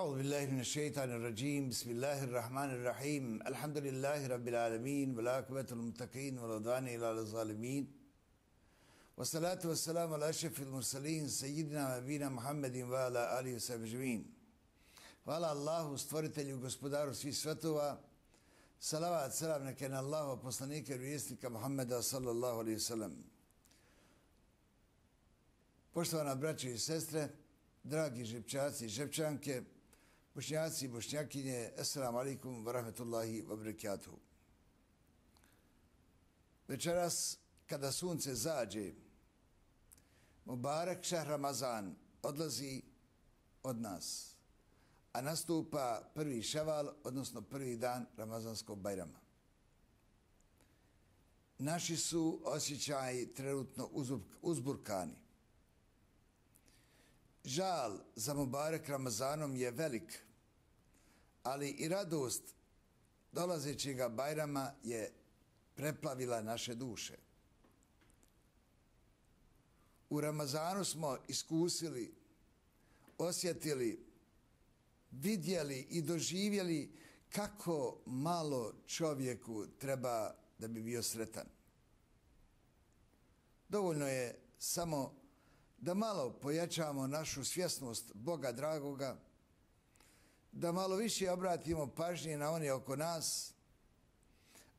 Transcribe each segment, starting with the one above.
أعوذ بالله من الشيطان الرجيم بسم الله الرحمن الرحيم الحمد لله رب العالمين والعاقبة للمتقين ولا عدوان إلا على الظالمين والصلاة والسلام على أشرف المرسلين سيدنا نبينا محمد وعلى آله وصحبه أجمعين. Hvala Allahu, stvoritelju, gospodaru svih svetova. Salavat, selam neka na Allahu, poslanika i vjesnika Muhammeda sallallahu alaihi wasallam. Poštovana braćo i sestre, dragi žepčaci i žepčanke, bošnjaci i bošnjakinje, assalamu alaikum wa rahmetullahi wa barakatuhu. Večeras, kada sunce zađe, Mubarak šahr Ramazan odlazi od nas, a nastupa prvi ševal, odnosno prvi dan Ramazanskog bajrama. Naši su osjećaji trenutno uzburkani. Žal za Mubarak Ramazanom je velik, ali i radost dolazećega bajrama je preplavila naše duše. U Ramazanu smo iskusili, osjetili, vidjeli i doživjeli kako malo čovjeku treba da bi bio sretan. Dovoljno je samo da malo pojačamo našu svjesnost Boga dragoga, da malo više obratimo pažnje na one oko nas,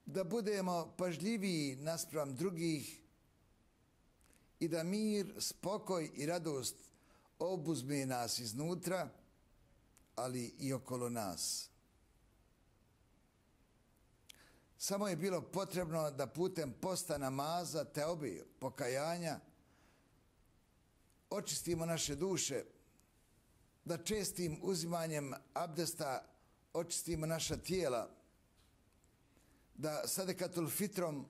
da budemo pažljiviji naspram drugih i da mir, spokoj i radost obuzme nas iznutra, ali i okolo nas. Samo je bilo potrebno da putem posta, namaza, teobe, pokajanja očistimo naše duše, da čestim uzimanjem abdesta očistimo naša tijela, da sadekatul fitrom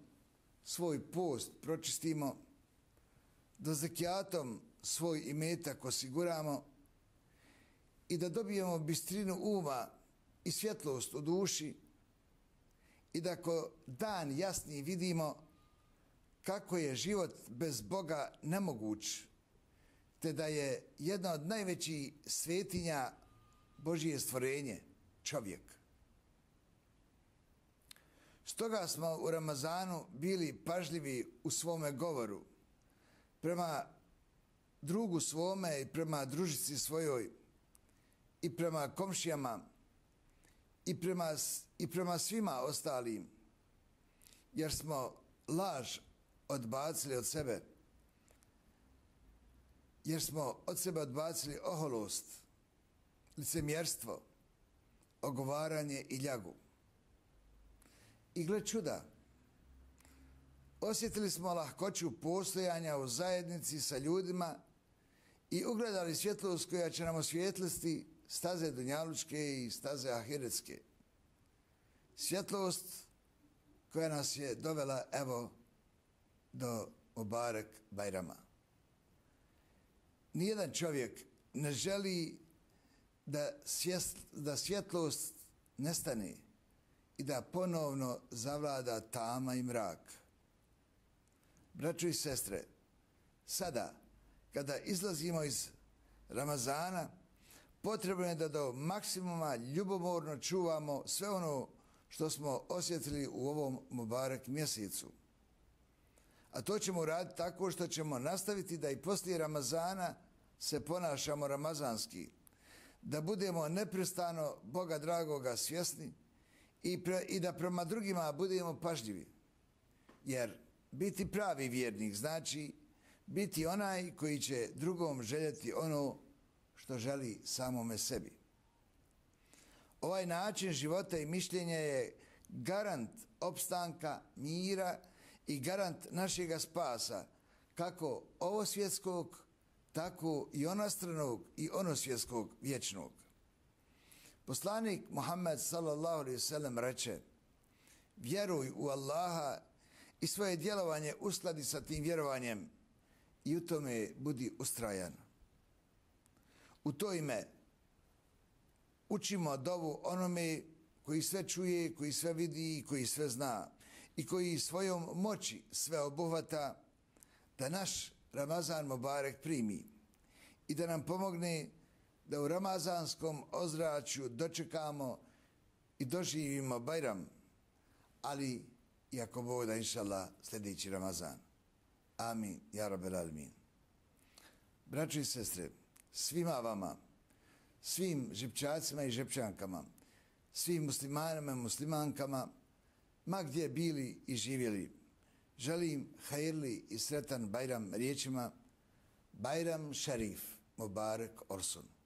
svoj post pročistimo, da zekijatom svoj imetak osiguramo i da dobijemo bistrinu uma i svjetlost u duši i da ko dan jasni vidimo kako je život bez Boga nemoguć, te da je jedna od najvećih svetinja Božije stvorenje, čovjek. Stoga smo u Ramazanu bili pažljivi u svome govoru, prema drugu svome i prema družici svojoj, i prema komšijama, i prema svima ostalim, jer smo laž odbacili od sebe, jer smo od sebe odbacili oholost, licemjerstvo, ogovaranje i ljagu. I gle čuda, osjetili smo lahkoću postojanja u zajednici sa ljudima i ugledali svjetlost koja će nam osvijetliti staze dunjalučke i staze ahiretske. Svjetlost koja nas je dovela, evo, do Mubarak bajrama. Nijedan čovjek ne želi da svjetlost nestane i da ponovno zavlada tama i mrak. Braćo i sestre, sada, kada izlazimo iz Ramazana, potrebno je da do maksimuma ljubomorno čuvamo sve ono što smo osjetili u ovom Mubarak mjesecu. A to ćemo uraditi tako što ćemo nastaviti da i poslije Ramazana se ponašamo ramazanski, da budemo neprestano Boga dragoga svjesni i da prema drugima budemo pažljivi. Jer biti pravi vjernik znači biti onaj koji će drugom željeti ono što želi samome sebi. Ovaj način života i mišljenja je garant opstanka, mira i garant našega spasa, kako ovosvjetskog, tako i onostranog i onosvjetskog vječnog. Poslanik Muhammed sallallahu alejhi ve sellem reče: vjeruj u Allaha i svoje djelovanje uskladi sa tim vjerovanjem i u tome budi ustrajan. U to ime učimo dovu onome koji sve čuje, koji sve vidi i koji sve zna i koji svojom moći sve obuhvata, da naš Ramazan Mubarak primi i da nam pomogne da u ramazanskom ozračju dočekamo i doživimo Bajram, ali i ako Bog da inšallah sljedeći Ramazan. Amin, ja rabbel alemin. Braćo i sestre, svima vama, svim žipčacima i žepčankama, svim muslimanima i muslimankama, ma gdje bili i živjeli, želim hajirli i sretan Bajram riječima Bajram Šarif Mubarek Orsun.